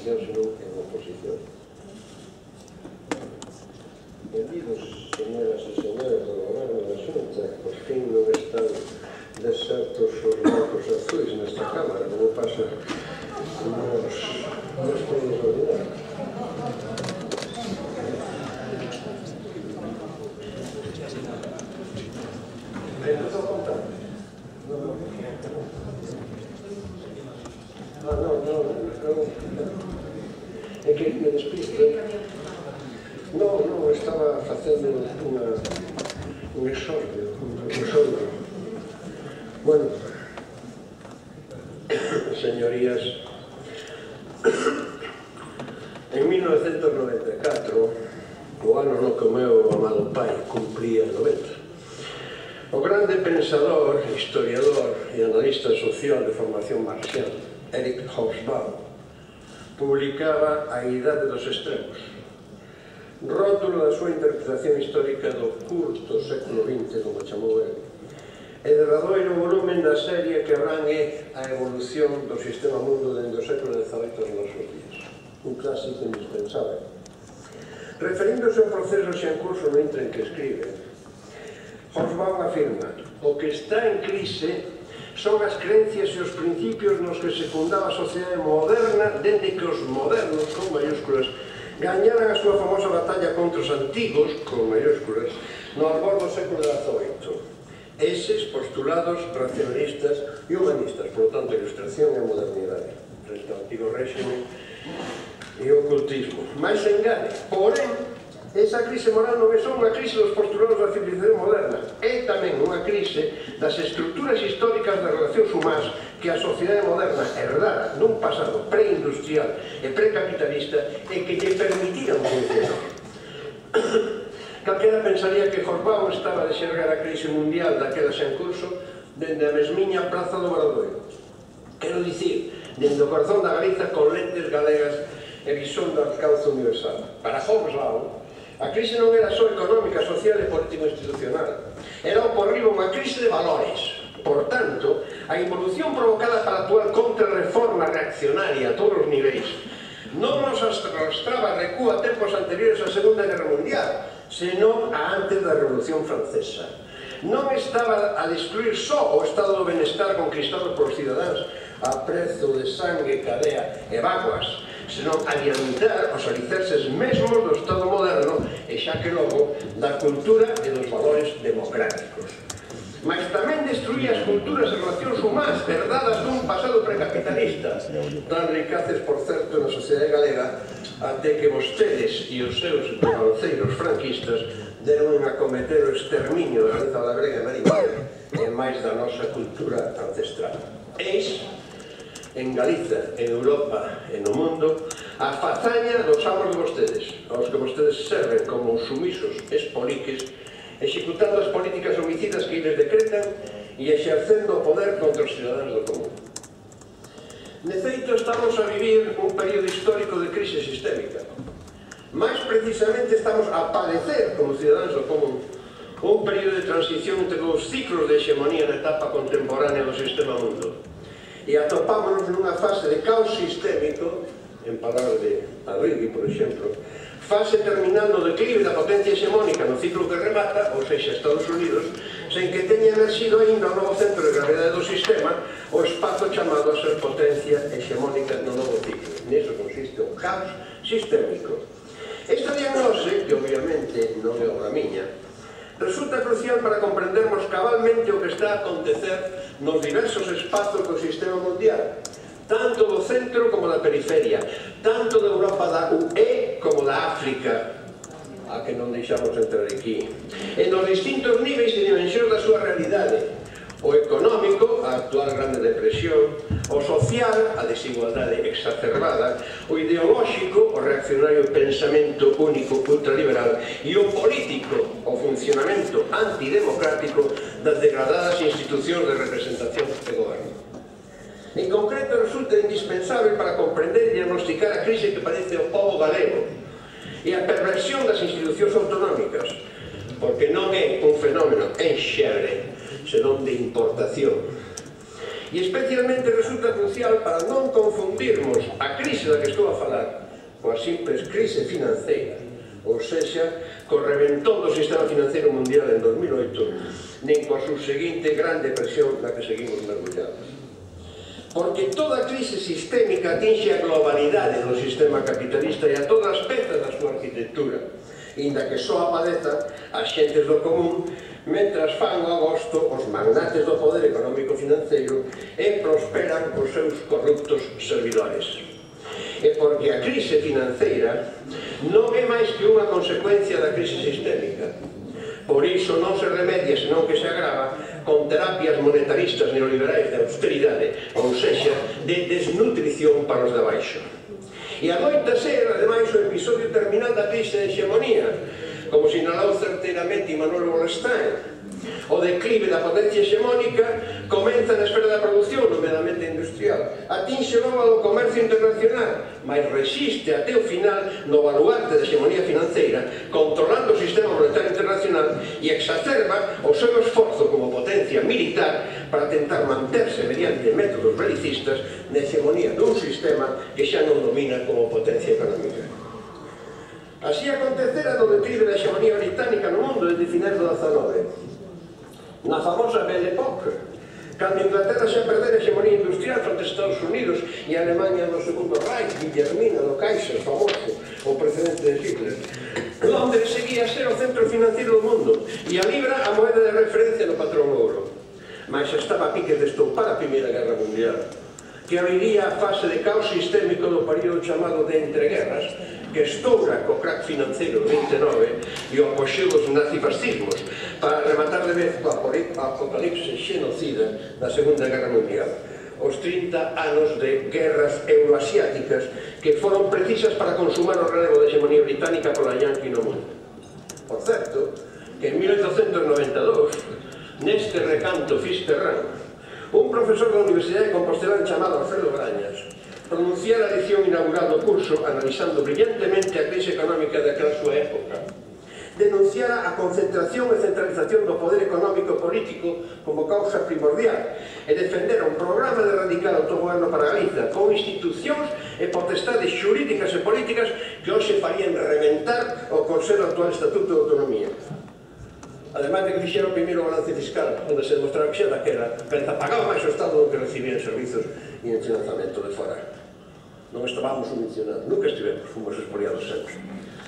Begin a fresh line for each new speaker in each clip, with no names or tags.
oposición, senón en oposición. Benvidos, señoras e señores do Goberno da Xunta, por fin non están desertos os bancos azuis nesta Cámara, como pasa nos países ordinarios. ¿Empezó a contar? No. É que me despisto. Non, estaba facendo un exordio. Bueno, señorías, en 1994, o ano no que o meu amado pai cumplía 90, o grande pensador, historiador e analista social de formación marxial, Eric Hobsbawm, publicaba A Idade dos Extremos, rótulo da súa interpretación histórica do curto século XX, como chamou ele, e derradoiro volumen da serie que abrangue a evolución do sistema mundo dende o século XVIII aos nosos días. Un clásico indispensable. Referíndose ao proceso xa en curso no intre en que escribe, Hobsbawm afirma: o que está en crise son as creencias e os principios nos que se fundaba a sociedade moderna dende que os modernos, con mayúsculas, gañaran a súa famosa batalla contra os antigos, con mayúsculas, no albor do século XVIII. Eses postulados racionalistas e humanistas, por tanto, a ilustración e a modernidade, frente ao antigo réxime e o ocultismo. Mais se engane, porén, esa crise moral non é só unha crise dos postulados da civilización moderna, é tamén unha crise das estruturas históricas das relacións humás que a sociedade moderna herdara nun pasado preindustrial e precapitalista e que lle permitiran funcionar. Calquera pensaría que Hobsbawm estaba de xergar a crise mundial daquela xa en curso dende a mesmiña Praza do Obradoiro. Quero dicir, dende o corazón da Galiza con lentes galegas e visón do alcance universal. Para Hobsbawm, a crise non era só económica, social e político-institucional. Era o por riba unha crise de valores. Por tanto, a involución provocada para a actual contrarreforma reaccionaria a todos os niveis non nos arrastraba recua a tempos anteriores á Segunda Guerra Mundial, senón a antes da Revolución Francesa. Non estaba a destruir só o estado do benestar conquistado polos cidadáns a prezo de sangue, cadea e vaguas, senón adiantar os alicerces mesmos do Estado moderno e xa que logo da cultura e dos valores democráticos. Mas tamén destruía as culturas e relacións humás herdadas dun pasado precapitalista, tan ricaces, por certo, na sociedade galega, até que vostedes e os seus banceiros franquistas deron a cometer o exterminio da Galiza grega e marítima e máis da nosa cultura ancestral. Eis, en Galiza, en Europa e no mundo, a fazaña dos amos de vostedes, aos que vostedes serven como sumisos espoliques, executando as políticas homicidas que eles decretan e exercendo o poder contra os cidadáns do común. De feito, estamos a vivir un período histórico de crise sistémica. Mais precisamente estamos a padecer, como cidadáns do común, un período de transición entre os ciclos de hexemonía na etapa contemporánea do sistema mundo. E atopámonos nunha fase de caos sistémico, en palabras de Arrighi, por exemplo, fase terminal no declive da potencia hexemónica no ciclo que remata, ou seja, Estados Unidos, sen que teña emerxido ainda o novo centro de gravedade do sistema, o espazo chamado a ser potencia hexemónica no novo ciclo. Niso consiste o caos sistémico. Esta diagnose, que obviamente non é obra miña, resulta crucial para comprendermos cabalmente o que está a acontecer nos diversos espazos do sistema mundial, tanto do centro como da periferia, tanto da Europa da UE como da África, a que non deixamos entrar aquí, e nos distintos níveis e dimensións da súa realidade: o económico, a actual grande depresión; o social, a desigualdade exacerbada; o ideolóxico, o reaccionario pensamento único ultraliberal; e o político, o funcionamento antidemocrático das degradadas institucións de representación e goberno. En concreto, resulta indispensable para comprender e diagnosticar a crise que padece o pobo galego e a perversión das institucións autonómicas, porque non é un fenómeno en xere, senón de importación. E especialmente resulta crucial para non confundirmos a crise da que estou a falar coa simples crise financeira, ou sexa, co reventón do sistema financiero mundial en 2008, nin coa subseguinte gran depresión na que seguimos mergullados. Porque toda crise sistémica atinxe a globalidade do sistema capitalista e a todas as pezas da súa arquitectura, inda que só apadezan as xentes do común, mentras fan o agosto os magnates do poder económico-financeiro e prosperan os seus corruptos servidores. E porque a crise financeira non é máis que unha consecuencia da crise sistémica. Por iso non se remedia, senón que se agrava con terapias monetaristas neoliberais de austeridade, ou sexa, de desnutrición para os de abaixo. E adoita ser, ademais, o episodio terminal da crise de hexemonía, como sinalou certeiramente Immanuel Wallerstein. O declive da potencia hexemónica comeza na esfera da produción, nomeadamente industrial, atinxe logo ao comercio internacional, mas resiste até o final no baluarte da hexemonía financeira, controlando o sistema monetario internacional e exacerba o seu esforzo como potencia militar para tentar manterse mediante métodos belicistas na hexemonía dun sistema que xa non domina como potencia económica. Así acontecera do declive da hexemonía británica no mundo desde finais do XIX. Na famosa Belle Époque, cando Inglaterra xa perdera a hexemonía industrial fronte aos Estados Unidos e a Alemanha do segundo Reich, Guillermina do Kaiser, famoso, o precedente de Hitler, Londres seguía a ser o centro financiero do mundo e a libra a moeda de referencia no patrón ouro. Mas estaba a piques de estoupar a Primeira Guerra Mundial, que abriría a fase de caos sistémico do período chamado de entreguerras, que estoura co crack financeiro do 29 e o apoxeo dos nazifascismos para rematar de vez co apocalipse xenocida da Segunda Guerra Mundial, os 30 anos de guerras euroasiáticas que foron precisas para consumar o relevo da hexemonía británica pola Yankee no mundo. Por certo, que en 1892, neste recanto fisterrán, un profesor da Universidade de Compostela chamado Alfredo Brañas pronunciara a lección inaugural do curso analizando brillantemente a crise económica daquela súa época. Denunciara a concentración e centralización do poder económico e político como causa primordial e defendera un programa de radical autogoverno para Galiza con institucións e potestades xurídicas e políticas que hoxe farían reventar o consello actual Estatuto de Autonomía. Ademais de que fixera o primeiro balance fiscal, onde se demostraba que xa daquela pagaba máis o Estado do que recibía en servizos e en financiamento de fora. Non estábamos subvencionados, nunca estivemos, fomos expoliados sempre.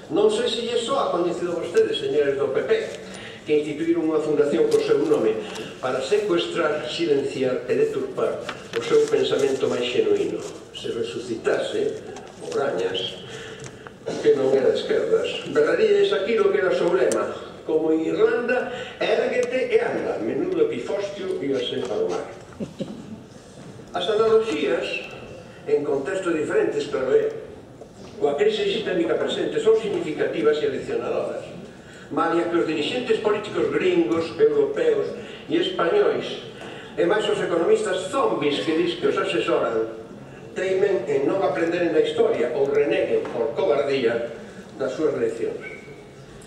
Non sei se lle só ha coñecido vostedes, señores do PP, que instituíron unha fundación co seu nome para secuestrar, silenciar e deturpar o seu pensamento máis xenuíno. Se resucitase, o Brañas, que non era de esquerdas, berraríades aquilo que era o seu lema: como en Irlanda, érguete e anda, menudo epifostio íbase ao mar. As analogías, en contextos diferentes, pero coa crise sistémica presente, son significativas e aleccionadoras. Malia que os dirixentes políticos gringos, europeos e españois, e máis os economistas zombies que dis que os asesoran, teimen en non aprenderen da historia ou reneguen por cobardía das súas leccións.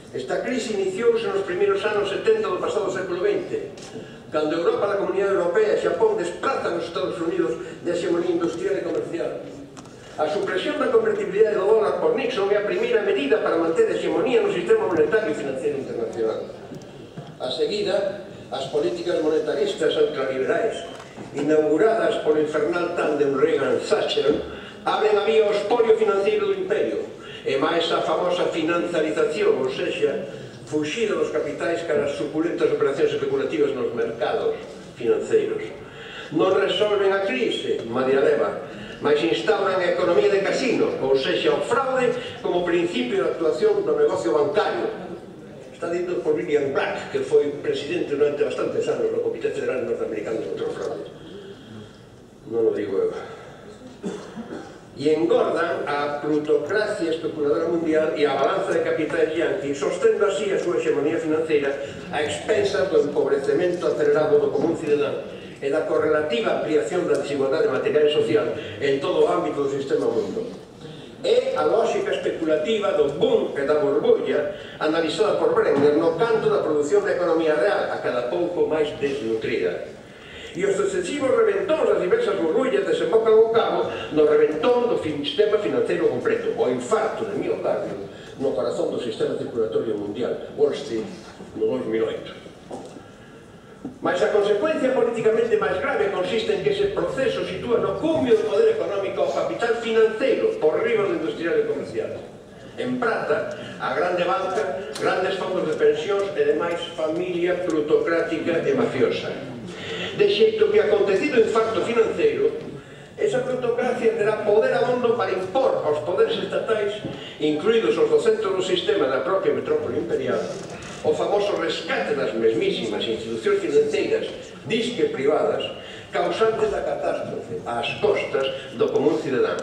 Esta crise iniciouse nos primeiros anos 70 do pasado século XX, cando Europa, a Comunidade Europea e Xapón desprazan os Estados Unidos de hexemonía industrial e comercial. A supresión da convertibilidade do dólar por Nixon é a primeira medida para manter a hexemonía no sistema monetario e financiero internacional. A seguida, as políticas monetaristas ultraliberais, inauguradas por infernal tándem Reagan-Thatcher, abren a vía ao espolio financiero do imperio, e máis a famosa financiarización, ou sexa, fuxida dos capitais cara as suculentas operacións especulativas nos mercados financeiros. Non resolven a crise, madia leva, mas instauran a economía de casino, ou sexa, o fraude como principio de actuación do negocio bancario. Está dito por William Black, que foi presidente durante bastantes anos do Comité Federal Norteamericano contra o Fraude. Non o digo eu. E engordan a plutocracia especuladora mundial e a balanza de capitais yankee, sostendo así a súa hexemonía financeira a expensas do empobrecemento acelerado do común cidadán e da correlativa ampliación da desigualdade material e social en todo o ámbito do sistema mundo. É a lógica especulativa do boom e da burbulla analizada por Brenner no canto da produción da economía real, a cada pouco máis desnutrida. E os sucesivos reventóns das diversas burbullas desembocan ao cabo no reventón do sistema financeiro completo, o infarto de miocardio no corazón do sistema circulatorio mundial, Wall Street, no 2008. Mas a consecuencia políticamente máis grave consiste en que ese proceso sitúa no cumio do poder económico ao capital financeiro por riba do industrial e comercial. En prata, a grande banca, grandes fondos de pensións e demais familia plutocrática e mafiosa. De xeito que, acontecido o infarto financeiro, esa plutocracia terá poder abondo para impor aos poderes estatais, incluídos os do centro do sistema da propia metrópole imperial, o famoso rescate das mesmísimas institucións financeiras disque privadas causantes da catástrofe ás costas do común cidadán.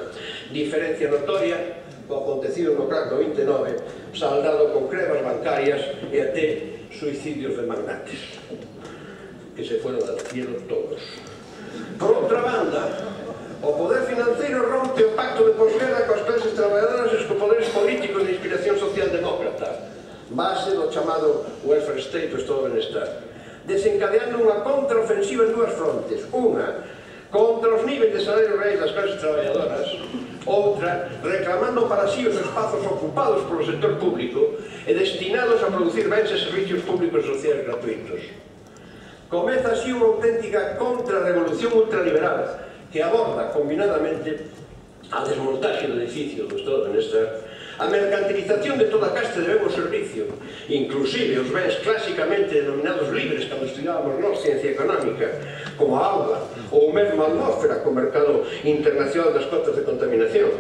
Diferencia notoria co acontecido no crack do 29, saldado con crevas bancarias e até suicidios de magnates que se fueron al cielo todos. Por outra banda, o poder financiero rompe o pacto de posguerra coas clases traballadoras e os poderes políticos de inspiración socialdemócrata, base do chamado welfare state, o estado de benestar, desencadeando unha contraofensiva en dúas frontes. Unha, contra os niveis de salario reais das clases traballadoras, outra, reclamando para sí os espazos ocupados polo sector público e destinados a producir bens e servicios públicos e sociais gratuitos. Comeza así unha auténtica contrarrevolución ultraliberal que aborda combinadamente a desmontaxe do edificio do estado de benestar, a mercantilización de toda a caste de ben o servicio, inclusive os bens clásicamente denominados libres cando estudábamos nós ciencia económica, como a auga ou mesmo a atmósfera co mercado internacional das cotas de contaminación,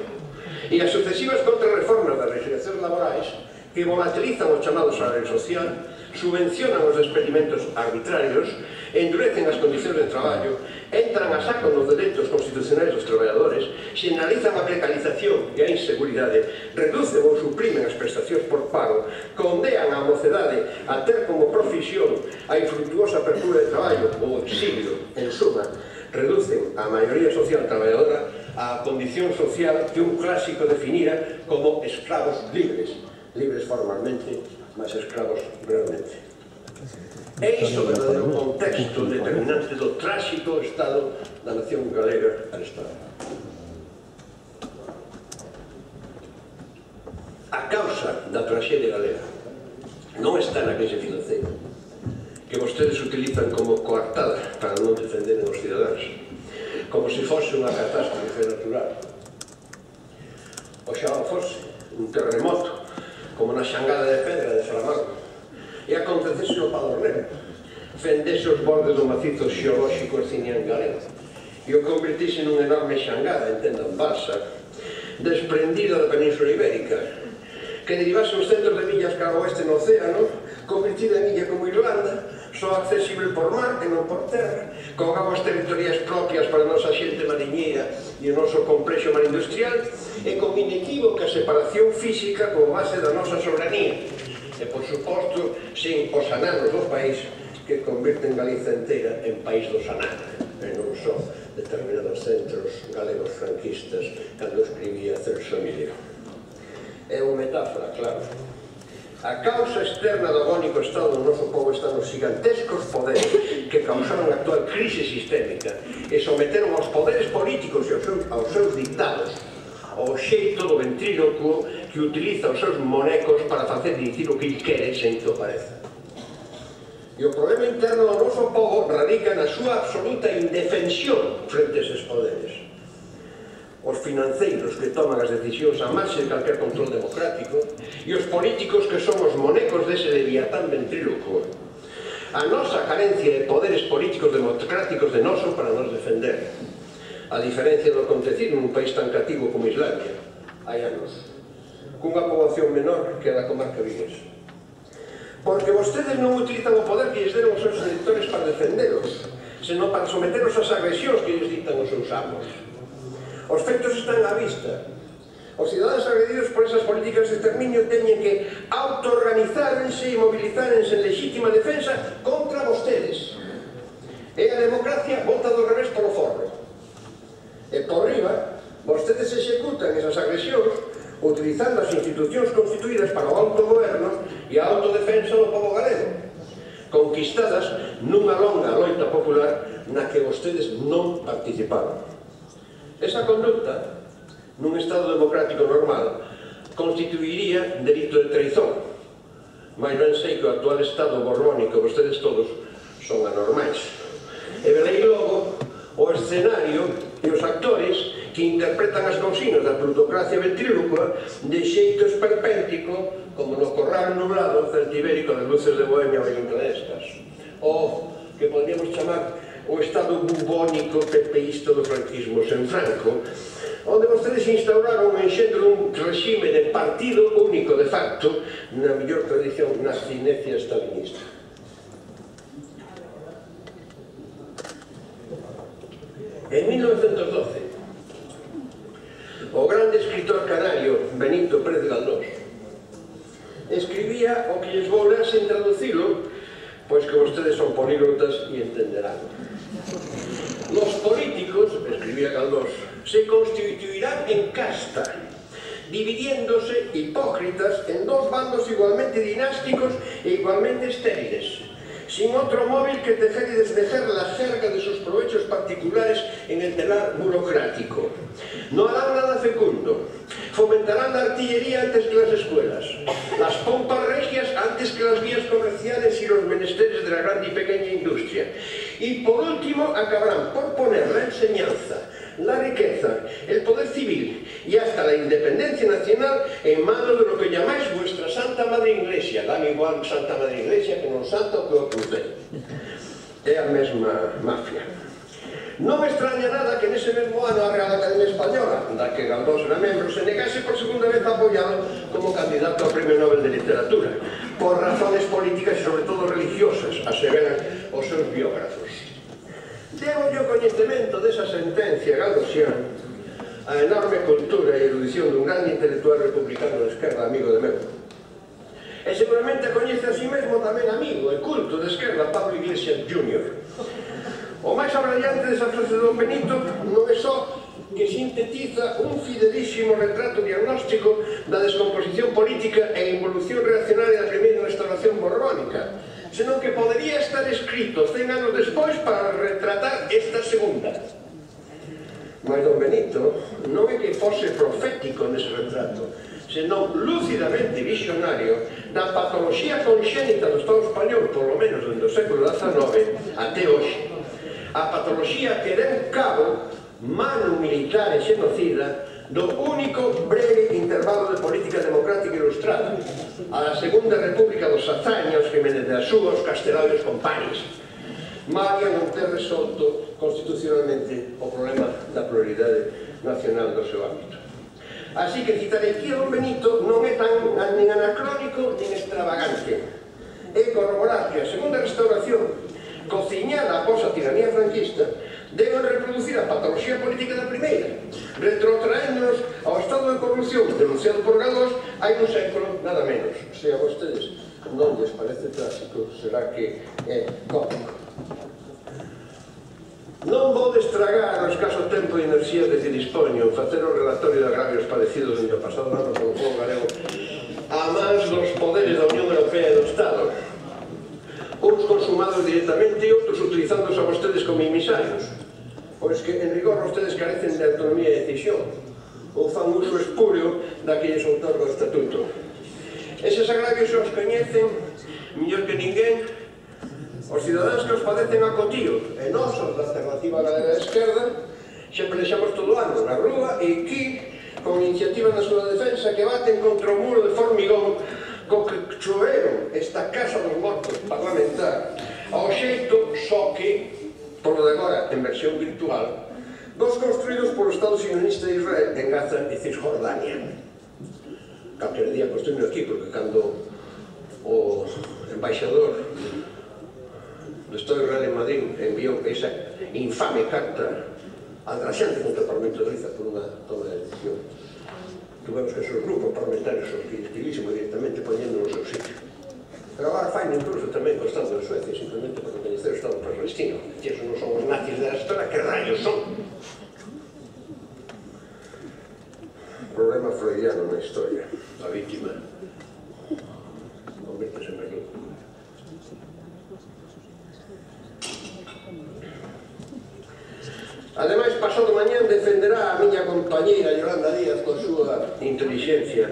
e as sucesivas contrarreformas das legislacións laborais que volatilizan o chamado salario social, subvencionan os despedimentos arbitrarios, endurecen as condicións de traballo, entran a saco nos dereitos constitucionais dos traballadores, xeneralizan a precarización e a inseguridade, reducen ou suprimen as prestacións por paro, condean a mocedade a ter como profesión a infructuosa apertura de traballo ou exilio, en suma, reducen a maioría social traballadora á condición social que un clásico definira como escravos libres, libres formalmente, mas escravos realmente. É iso o verdadeiro contexto determinante do tráxico estado da nación galega al Estado. A causa da traxedia galega non está na crise financeira, que vostedes utilizan como coartada para non defender os cidadáns, como se fose unha catástrofe natural. Oxalá fose un terremoto, como na xangada de pedra de Salamanca, e acontecese o Padornero, fendese os bordes do macizo xeolóxico arcinián galego, e o convertise nun enorme xangada, entendan balsa, desprendida da Península Ibérica, que derivase uns centros de millas cara ao oeste no océano, convertida en illa como Irlanda, só accesible por mar e non por terra, con augas territoriais propias para a nosa xente mariñeira e o noso complexo mar industrial, e con inequívoca separación física como base da nosa soberanía, e, por suposto, sen os ananos do país que convirten Galiza inteira en país do sanar, e non só determinados centros galegos franquistas cando escribía Celso Emilio. É unha metáfora, claro. A causa externa do agónico estado do noso povo está nos gigantescos poderes que causaron a actual crise sistémica e someteron aos poderes políticos e aos seus dictados ao xeito do ventrílocuo que utiliza os seus monecos para facer dicir o que il quere sen que o pareza. E o problema interno do noso povo radica na súa absoluta indefensión frente a eses poderes. Os financeiros que toman as decisións a marxe de calquer control democrático e os políticos que son os monecos dese leviatán ventrílocuo. A nosa carencia de poderes políticos democráticos de noso para nos defender. A diferencia do acontecido nun país tan cativo como Islandia, hai anos, cunha poboación menor que a da comarca viguesa. Porque vostedes non utilizan o poder que lles deron os seus electores para defenderos, senón para someteros ás agresións que lles dictan os seus amos. Os feitos están á vista. Os cidadáns agredidos por esas políticas de exterminio teñen que autoorganizárense e mobilizárense en legítima defensa contra vostedes. E a democracia volta do revés polo forro. E por riba, vostedes executan esas agresións utilizando as institucións constituídas para o autogoberno e a autodefensa do povo galego, conquistadas nunha longa loita popular na que vostedes non participaron. Esa conducta, nun Estado democrático normal, constituiría delito de traizón, mas ben sei que o actual Estado borbónico, vostedes todos, son anormais. E velei logo o escenario e os actores que interpretan as consignas da plutocracia ventrílocua de xeito esperpéntico, como no corral nublado celtibérico das luces de Bohemia valencianescas, ou que podríamos chamar o estado bubónico pepeísta do franquismo sen Franco, onde vostedes instauraron enxendo un regime de partido único de facto na mellor tradición nazinecia stalinista. En 1912, o grande escritor canario Benito Pérez Galdós escribía o que lles vou ler sen traducilo, pois que vostedes son políglotas e entenderán. Los políticos, escribía Galdós, se constituirán en casta, dividiéndose hipócritas en dos bandos igualmente dinásticos e igualmente estériles, sin otro móvil que tejer y destejer la jerga de sus provechos particulares en el telar burocrático. No harán nada fecundo, fomentarán la artillería antes que las escuelas, las pompas regias antes que las vías comerciales y los menesteres de la grande y pequeña industria. Y por último acabarán por poner la enseñanza, la riqueza, el poder civil y hasta la independencia nacional en manos de lo que llamáis vuestra Santa Madre Iglesia. Dan igual Santa Madre Iglesia que non Santa o que o cruzei. É a mesma mafia. Non me extraña nada que nese mesmo ano a Real Academia Española, da que Galdós era membro, se negase por segunda vez a apoiado como candidato ao Premio Nobel de Literatura, por razones políticas e sobre todo religiosas, aseveran os seus biógrafos. Debo yo coñecemento desa sentencia galdosiana a enorme cultura e erudición dun grande intelectual republicano de esquerda, amigo de meu. E seguramente coñece a si mesmo tamén amigo e culto de esquerda, Pablo Iglesias Jr. O máis abrallante desa frase de Don Benito non é só que sintetiza un fidelísimo retrato diagnóstico da descomposición política e involución reaccionaria da primeira restauración borbónica, senón que podería estar escrito 100 anos despois para retratar esta segunda. Mas Don Benito non é que fose profético nese retrato, senón lúcidamente visionario da patoloxía conxénita do Estado español, polo menos dende o século XIX até hoxe. A patoloxía que deu cabo, mano militar e xenocida, do único breve intervalo de política democrática ilustrada, a da Segunda República dos Hazaños, Jiménez de Asúa, os Castelao e os compañes. Malia non ter resolto constitucionalmente o problema da pluralidade nacional do seu ámbito. Así que citar aquí a Don Benito non é tan nin anacrónico nin extravagante. É corroborar que a Segunda Restauración, cociñada após a tiranía franquista, deben reproducir a patoloxía política da primeira, retrotraéndonos ao estado de corrupción denunciado por Galdós hai un século, nada menos. Se a vostedes non lles parece clásico, será que é cómico. Non vou destragar o escaso tempo e enerxía de que dispoño facer o relatorio de agravios padecidos dentro do pasado ano polo povo galego a mans dos poderes da Unión Europea e do Estado, uns consumados directamente e outros utilizándoos a vostedes como emisarios, pois que en rigor vostedes carecen de autonomía de decisión ou fan uso espúreo da que lles outorga o Estatuto. Eses agravios os coñecen mellor que ninguén os cidadáns que os padecen a cotío, e nós, os da Alternativa Galega de Esquerda, xa pelexamos todo o ano na rúa e aquí, con iniciativas na súa defensa que baten contra o muro de formigón co que choveron esta casa dos mortos parlamentar ao xeito só que, polo de agora en versión virtual, dos construídos polo Estado sionista de Israel en Gaza e Cisjordania. Calquer día construído aquí, porque cando o embaixador do Estado de Israel en Madrid enviou esa infame carta adraxante contra o Parlamento de Galiza por unha toma de decisión, tuvemos que ser os grupos parlamentarios os que escribísemos directamente poñendo no seu sitio. Pero agora faino incluso tamén co Estado de Suecia, simplemente para coñecer o Estado palestino, que esos non son os nazis da historia, que rayos son? Problema freudiano na historia, a víctima convértese en mayor. Ademais, pasado mañán defenderá a miña compañeira Yolanda Díaz coa súa intelixencia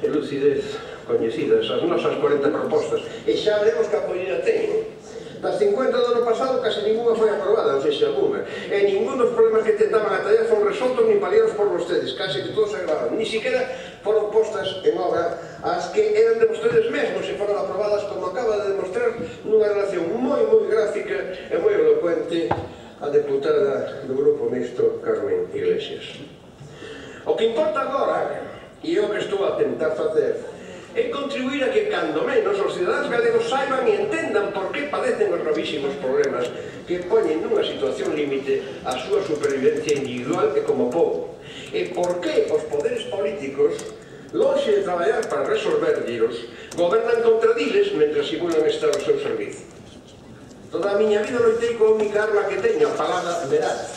e lucidez coñecidas as nosas 40 propostas, e xa veremos que apoio ten. Das 50 do ano pasado case ninguna foi aprobada, non sei se alguna, e ningún dos problemas que tentaban atallar foron resoltos ni paliados por vostedes, case que todos se agravaron, ni siquiera foron postas en obra as que eran de vostedes mesmos e foron aprobadas, como acaba de demostrar, nunha relación moi gráfica e moi elocuente a deputada do Grupo Mixto, Carmen Iglesias. O que importa agora, e é o que estou a tentar facer, é contribuir a que, cando menos, os cidadáns galegos saiban e entendan por que padecen os gravísimos problemas que poñen nunha situación límite a súa supervivencia individual e como povo, e por que os poderes políticos, lonxe de traballar para resolverllos, gobernan contra diles mentre simulan estar ao seu servizo. Toda a miña vida loitei coa única arma que teño, a palabra veraz,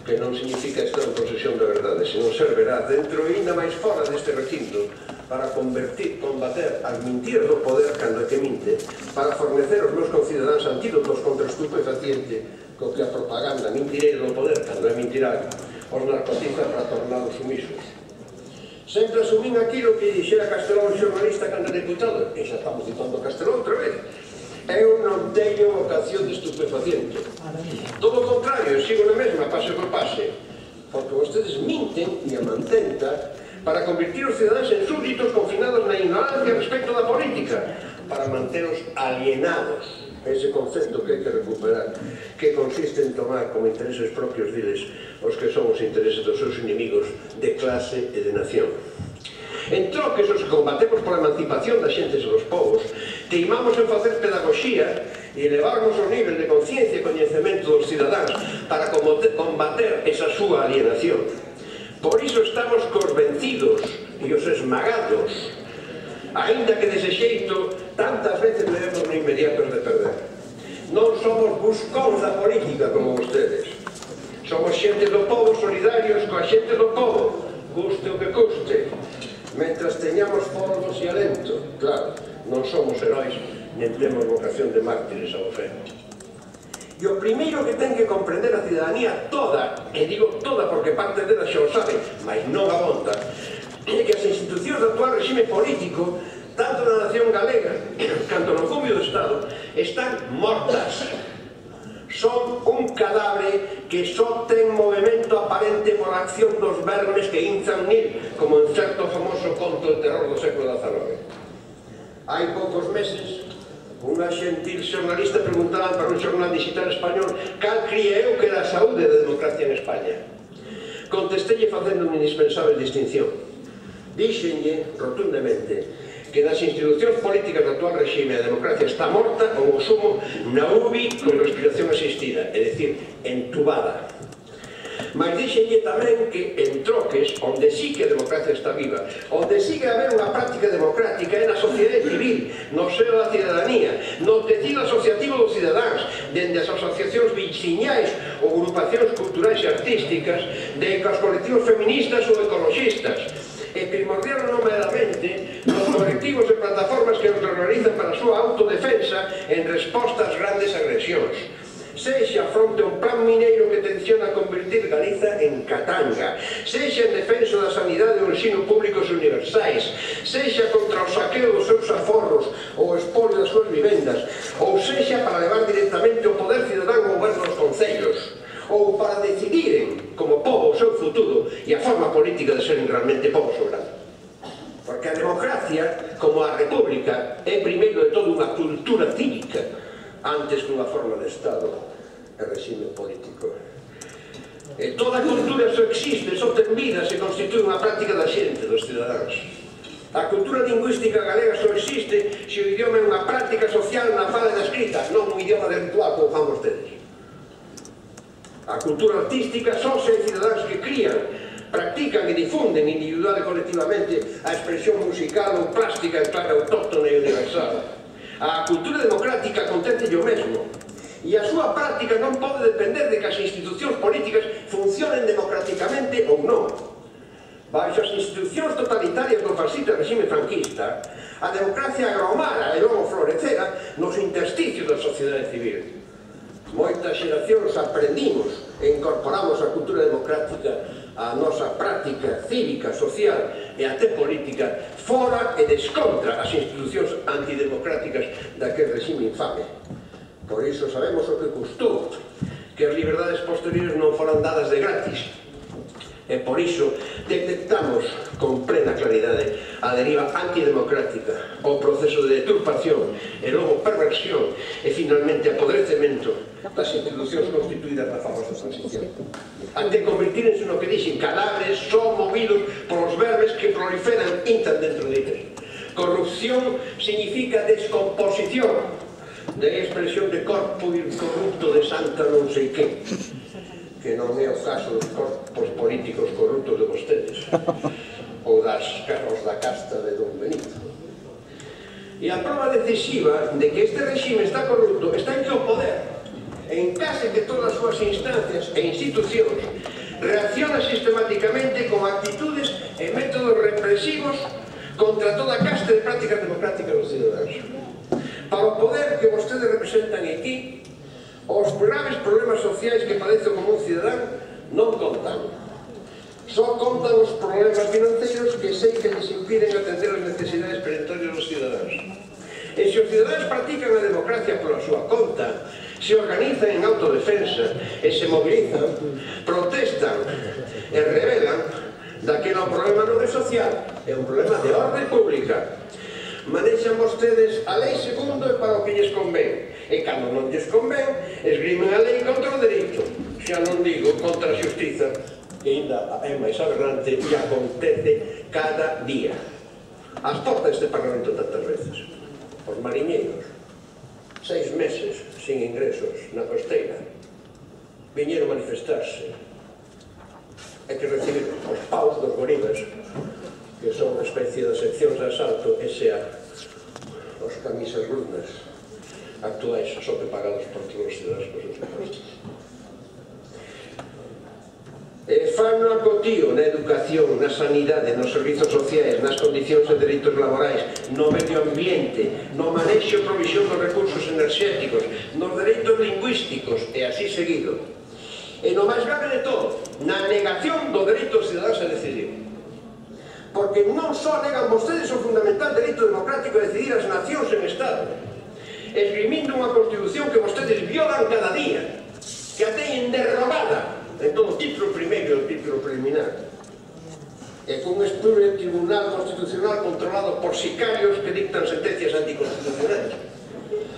que non significa estar en posesión da verdade, senón ser veraz dentro e ainda máis fora deste recinto, para combater as mentiras do poder cando é que minte, para fornecer aos meus concidadáns antídotos contra o estupefaciente co que a propaganda mentireira do poder, cando é mentiral, os narcotiza para tornados sumisos. Sempre asumín aquilo que dixera Castelao, xornalista, cando deputado, e xa estamos citando Castelao outra vez. Eu non teño vocación de estupefaciente. Todo o contrario, sigo na mesma, pase por pase, porque vostedes minten e a mantenta para convertir os cidadáns en súbditos confinados na ignorancia respecto da política, para manteros alienados, ese concepto que hai que recuperar, que consiste en tomar como intereses propios diles os que son os intereses dos seus inimigos de clase e de nación. En troques, os que combatemos pola emancipación das xentes e dos povos, teimamos en facer pedagogía e elevarnos o nivel de conciencia e coñecemento dos cidadáns para combater esa súa alienación. Por iso estamos cos vencidos e os esmagados, aínda que dese xeito tantas veces levemos no inmediatos de perder. Non somos buscóns da política como vostedes. Somos xente do povo, solidarios coa xente do povo, custe o que custe. Mentras teñamos folgos e alento, claro, non somos heróis, nen temos vocación de mártires ao fe. E o primeiro que ten que comprender a cidadanía toda, e digo toda porque parte dela xa o sabe, mas non abonda, é que as institucións do actual regime político, tanto na nación galega, canto no cumio do Estado, están mortas. Son un cadáver que só ten movimento aparente por acción dos vermes que inzan nil, como en certo famoso conto de terror do século XIX. Hai poucos meses, unha xentil xornalista preguntaba para un xornal digital español cal cría eu que era a saúde da democracia en España. Contestelle facendo unha indispensable distinción. Díxenlle rotundamente que nas institucións políticas do actual regime a democracia está morta ou o sumo na UBI con respiración asistida, é dicir, entubada. Mas díxenlle tamén que en troques, onde sí que a democracia está viva, onde sí que haber unha práctica democrática é na sociedade civil, no seo da cidadanía, no tecido asociativo dos cidadáns, dende as asociacións veciñais ou agrupacións culturais e artísticas, de cos colectivos feministas ou ecologistas, e primordial nomeadamente nos colectivos e plataformas que os organizan para a súa autodefensa en resposta ás grandes agresións. Sexa fronte a un plan mineiro que tenciona convertir Galiza en Katanga, sexa en defensa da sanidade e do ensino públicos universais, sexa contra o saqueo dos seus aforros ou o espolio das súas vivendas, ou sexa para levar directamente o poder cidadán ao goberno dos concellos, ou para decidiren como povo o seu futuro e a forma política de seren realmente povo soberano. Porque a democracia, como a república, é primeiro de todo unha cultura cívica antes que unha forma de Estado e regime político. E toda cultura só existe, só ten vida, se constitúe unha práctica da xente, dos cidadáns. A cultura lingüística galega só existe se o idioma é unha práctica social na fala e na escrita, non un idioma de ritual como fan vostedes. A cultura artística só se hai cidadáns que crían, practican e difunden individual e colectivamente a expresión musical ou plástica en clave autóctona e universal. A cultura democrática contente o mesmo, e a súa práctica non pode depender de que as institucións políticas funcionen democráticamente ou non. Baixo as institucións totalitarias do fascista regime franquista, a democracia agromara e logo florecera nos intersticios da sociedade civil. Moitas xeracións aprendimos e incorporamos a cultura democrática á nosa práctica cívica, social e até política fora e descontra as institucións antidemocráticas daquel regime infame. Por iso sabemos o que custou que as liberdades posteriores non foran dadas de gratis. E por iso detectamos con plena claridade a deriva antidemocrática, o proceso de deturpación e logo perversión e finalmente apodrecemento das institucións constituídas na famosa transición, até convertírense no que dixen cadáveres só movidos polos verbes que proliferan intan dentro deles. Corrupción significa descomposición, de expresión de corpo corrupto de santa non sei que non é o caso dos corpos políticos corruptos de vostedes ou das carros da casta de Don Benito. E a prova decisiva de que este regime está corrupto está en que o poder, en case que todas as súas instancias e institucións, reacciona sistemáticamente con actitudes e métodos represivos contra toda a casta de prácticas democráticas dos cidadáns. Para o poder que vostedes representan aquí, os graves problemas sociais que padece o común cidadán non contan. Só contan os problemas financeiros que sei que les impiden atender as necesidades perentorias dos cidadáns. E se os cidadáns practican a democracia pola súa conta, se organizan en autodefensa e se mobilizan, protestan e revelan, daquela o problema non é social, é un problema de orde pública. Manexan vostedes a lei segundo e para o que lles convén. E cando non lles convén, esgrimen a lei contra o dereito. Xa non digo contra a xustiza, que ainda é máis aberrante e acontece cada día. As portas deste Parlamento tantas veces. Os mariñeiros, 6 meses sin ingresos na costeira, viñeron manifestarse e que recibiron os paus dos gorilas, que son unha especie de seccións de asalto, e xa os camisas lunas actuais só que pagados por todos os cidadãos por seus impostos. Fan no acotío na educación, na sanidade, nos servizos sociais, nas condicións de dereitos laborais, no medio ambiente, no manexo e provisión dos recursos enerxéticos, nos dereitos lingüísticos, e así seguido. E no máis grave de todo, na negación do dereito dos cidadáns a decidir. Porque non só negan vostedes o fundamental dereito democrático a decidir as nacións en Estado, esgrimindo unha Constitución que vostedes violan cada día, que a teñen derrogada en todo o título primeiro e o título preliminar, e cun espúreo tribunal constitucional controlado por sicarios que dictan sentencias anticonstitucionais,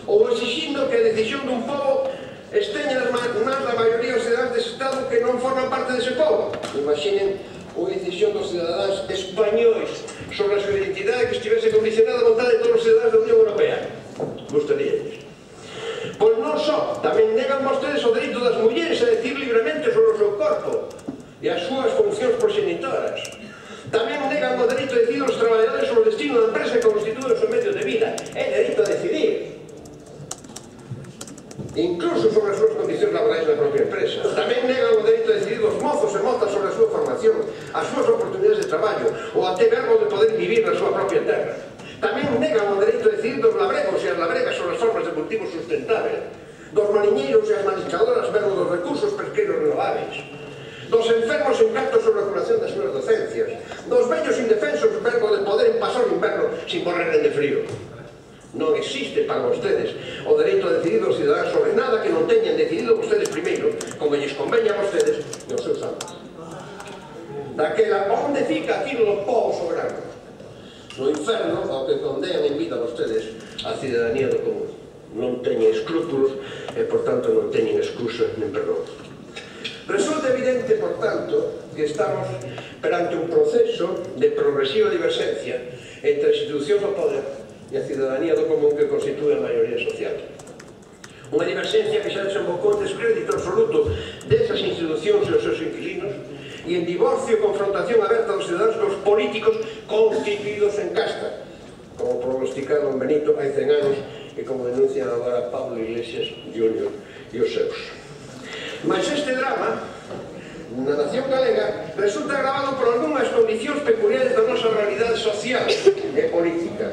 ou exixindo que a decisión dun pobo esteña nas mans da maioría dos cidadáns dese Estado que non forman parte dese pobo. Imaginen unha decisión dos cidadáns españois sobre a súa identidade que estivese condicionada a vontade de todos os cidadáns da Unión Europea. Gustaríalles. Pois non só, tamén negan vostedes o dereito das mulleres a decir libremente sobre o seu corpo e as súas funcións proxenitoras. Tamén negan o dereito a decidir os traballadores sobre o destino da empresa que constitúe o seu medio de vida. É dereito a decidir. Incluso sobre as súas condicións laborais na propia empresa. Tamén negan o dereito a decidir dos mozos e mozas sobre a súa formación, as súas oportunidades de traballo, ou até verbo de poder vivir na súa propia terra. Tamén negan o dereito a decidir dos labregos e as labregas sobre as formas de cultivo sustentável, dos mariñeiros e as mariscadoras verbo dos recursos pesqueiros renováveis, dos enfermos en canto sobre a curación das súas docencias, dos vellos indefensos verbo de poder pasar o inverno sin morrer de frío. Non existe para vostedes o dereito a decidir dos cidadáns sobre nada que non teñan decidido vostedes primeiro, como lles conveña a vostedes e aos seus amos. Daquela, onde fica aquilo do povo soberano? No inferno, ao que condean en vida vostedes a cidadanía do común. Non teñen escrúpulos e, por tanto, non teñen excusa nen perdón. Resulta evidente, por tanto, que estamos perante un proceso de progresiva diverxencia entre as institucións do poder e a cidadanía do común que constitúe a maioría social. Unha diverxencia que xa desembocou en descrédito absoluto desas institucións e os seus inquilinos e en divorcio e confrontación aberta dos cidadáns cos políticos constituídos en casta, como prognosticaba Don Benito hai 100 anos e como denuncian agora Pablo Iglesias Jr. e os seus. Mas este drama na nación galega resulta agravado por algunhas condicións peculiares da nosa realidade social e política.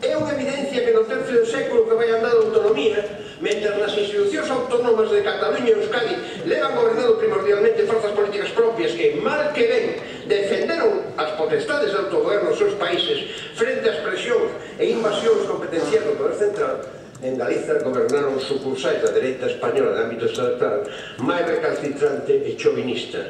É unha evidencia que no tercio do século que vai andar a autonomía Mentre nas institucións autónomas de Cataluña e Euskadi levan gobernado primordialmente forzas políticas propias que, mal que ben, defenderon as potestades de autogoberno dos seus países frente ás presións e invasións competenciais do poder central, en Galiza gobernaron sucursais da dereita española de ámbito estatal máis recalcitrante e chauvinista.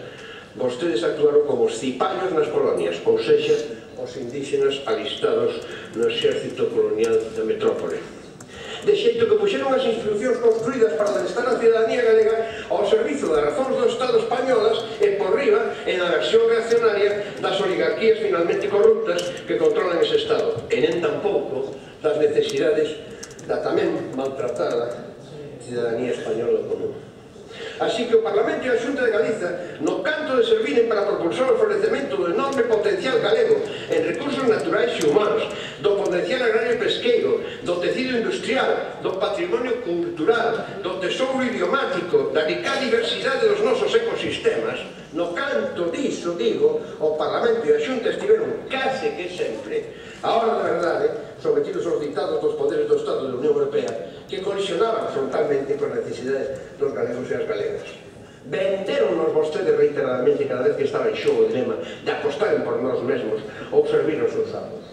Vostedes actuaron como os cipallos nas colonias, ou sexa, os indígenas alistados no exército colonial da metrópole. De xeito que puxeron as institucións construídas para adestrar a cidadanía galega ao servizo das razóns do Estado españolas e por riba en a versión reaccionaria das oligarquías finalmente corruptas que controlan ese Estado, e nen tampouco das necesidades da tamén maltratada cidadanía española común. Así que o Parlamento e a Xunta de Galiza, no canto de serviren para propulsar o florecemento do enorme potencial galego en recursos naturais e humanos, do potencial agrario e pesqueiro, do tecido industrial, do patrimonio cultural, do tesouro idiomático, da rica diversidade dos nosos ecosistemas, no canto diso, digo, o Parlamento e a Xunta estiveron case que sempre, a hora da verdade, sometidos aos dictados dos poderes do Estado da Unión Europea que colisionaban frontalmente con as necesidades dos galegos e as galegas. Venderonnos vostedes reiteradamente cada vez que estaba en xogo o dilema de apostaren por nós mesmos ou servir os seus amos.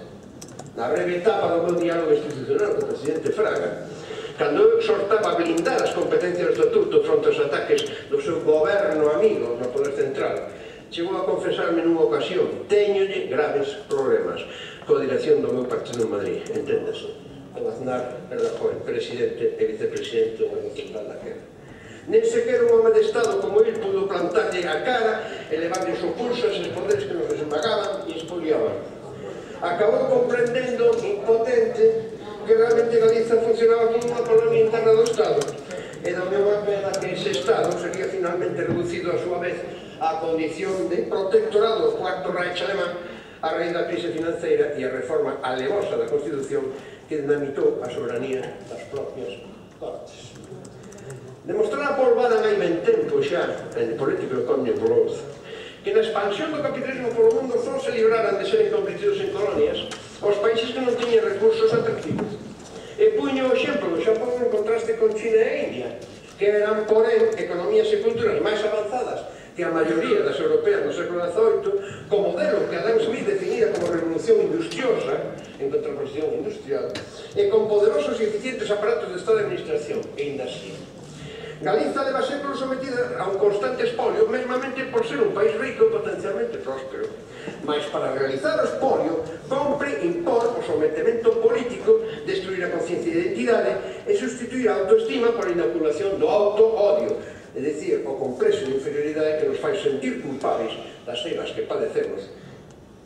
Na breve etapa do meu diálogo institucional co presidente Fraga, cando eu exhortaba a blindar as competencias do Estatuto fronte aos ataques do seu goberno amigo no poder central, chegou a confesarme nunha ocasión: teñolle graves problemas coa dirección do meu partido en Madrid, enténdase, con Aznar Rajoy, presidente e vicepresidente do Goberno Central daquela. Nen sequer un home de Estado como ele pudo plantarlle a cara e levarlle o pulso a eses poderes que nos desembagaban e expoliaban. Acabou comprendendo, impotente, que realmente Galiza funcionaba como unha colonia interna do Estado, e da mesma pena que ese Estado sería finalmente reducido a súa vez á condición de protectorado do Cuarto Reich alemán a raíz da crise financeira e a reforma alevosa da Constitución que dinamitou a soberanía das propias Cortes. Demostrar a polvada hai ben tempo xa, en Political Economy Growth, que na expansión do capitalismo polo mundo só se libraran de serem convertidos en colonias os países que non tiñan recursos atractivos. E puño o exemplo do Xapón en contraste con China e India, que eran, porén, economías e culturas máis avanzadas que a maioría das europeas no século XVIII, co modelo que Adam Smith definira como revolución industriosa, en contraposición industrial, e con poderosos e eficientes aparatos de Estado de administración, e ainda así. Galiza leva séculos sometida a un constante espolio, mesmamente por ser un país rico e potencialmente próspero. Mas para realizar o espolio, compre impor o sometemento político, destruir a conciencia de identidade e sustituir a autoestima por a inoculación do auto-odio, é dicir, o complexo de inferioridade que nos fai sentir culpables das eiras que padecemos,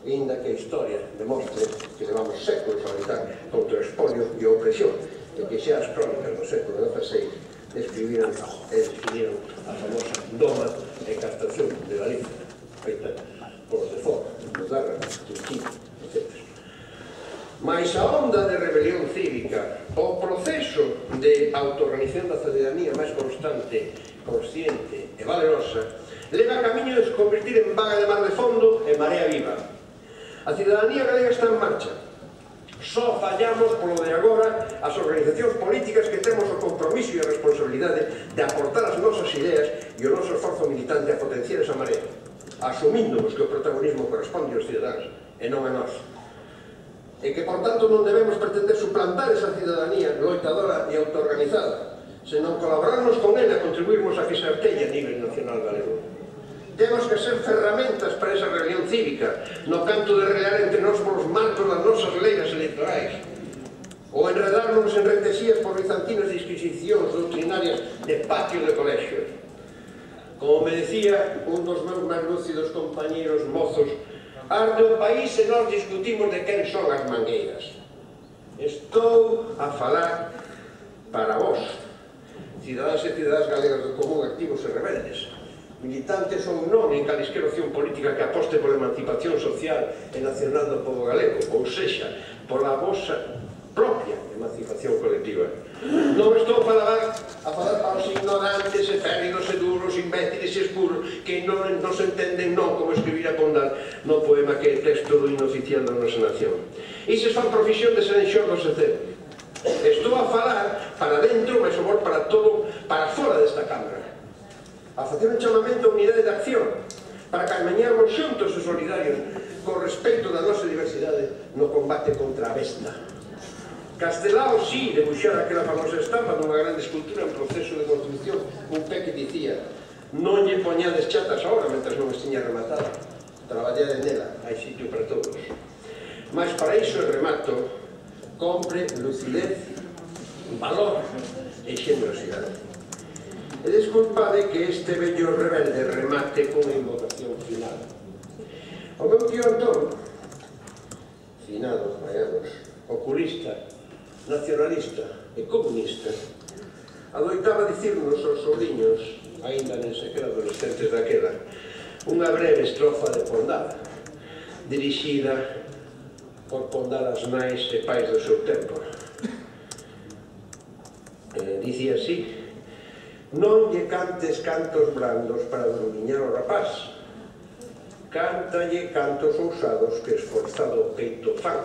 ainda que a historia demostre que levamos séculos a lutar contra o espolio e a opresión, e que xa as crónicas do século XVI describiran e definiran a famosa doma e castración de Galiza, feita polos de fora, nos Darra, Turquía, etc. Mais a onda de rebelión cívica, o proceso de autoorganización da cidadanía máis constante, consciente e valerosa, leva a camiño de se convertir en vaga de mar de fondo e marea viva. A cidadanía galega está en marcha. Só fallamos polo de agora as organizacións políticas que temos o compromiso e a responsabilidade de aportar as nosas ideas e o noso esforzo militante a potenciar esa marea, asumíndonos que o protagonismo corresponde aos cidadáns e non a nós. E que, por tanto, non debemos pretender suplantar esa cidadanía loitadora e autoorganizada, senón colaborarnos con ela e contribuirmos a que se artelle a nivel nacional galego. Temos que ser ferramentas para esa rebelión cívica, no canto de relar entre nós polos marcos das nosas leiras electorais, ou enredarnos en retesías por bizantinas disquisicións doutrinarias de patios de colexios. Como me decía un dos meus máis lúcidos compañeros mozos, arde o país e nós discutimos de quen son as mangueiras. Estou a falar para vós, cidadáns e cidadáns galegas do común, activos e rebeldes, militantes ou non en calisquera opción política que aposte pola emancipación social e nacional do povo galego, ou sexa, pola vosa propia emancipación colectiva. Non estou a falar para os ignorantes e férridos e duros, imbéciles e escuros que non se entenden non como escribir a Pondal no poema que é texto do himno oficial da nosa nación. Ises fan profesión de seren xordos e cero. Estou a falar para dentro, mas o para todo para fora desta Cámara, a facer un chamamento a unidade de acción, para camiñarmos xuntos e solidarios con respecto da nosa diversidade no combate contra a besta. Castelao, sí, debuxara aquela famosa estampa dunha grande escultura en proceso de construcción, un pé que dicía: non lle poñades chatas agora mentre non estiña rematada, traballade nela, hai sitio para todos. Mas para iso e remato, compre lucidez, valor e xenerosidade. E desculpade que este vello rebelde remate cunha invocación final. O meu tío Antón, finado, hai anos, oculista, nacionalista e comunista, adoitaba dicirnos aos sobrinhos, aínda nen sequera adolescentes daquela, unha breve estrofa de Pondal, dirixida por Pondalas nais e pais do seu tempo. Dicía así: non lle cantes cantos brandos para dormiñar o rapaz, cántalle cantos ousados que esforzado o peito fan,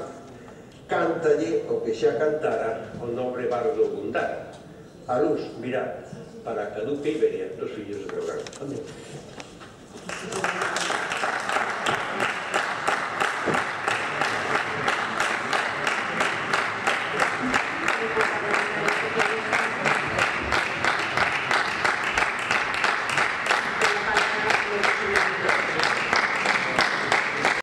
cántalle o que xa cantara o nobre bardo Gundar. A luz virá para a caduca Iberia dos fillos de Brogan. Amén.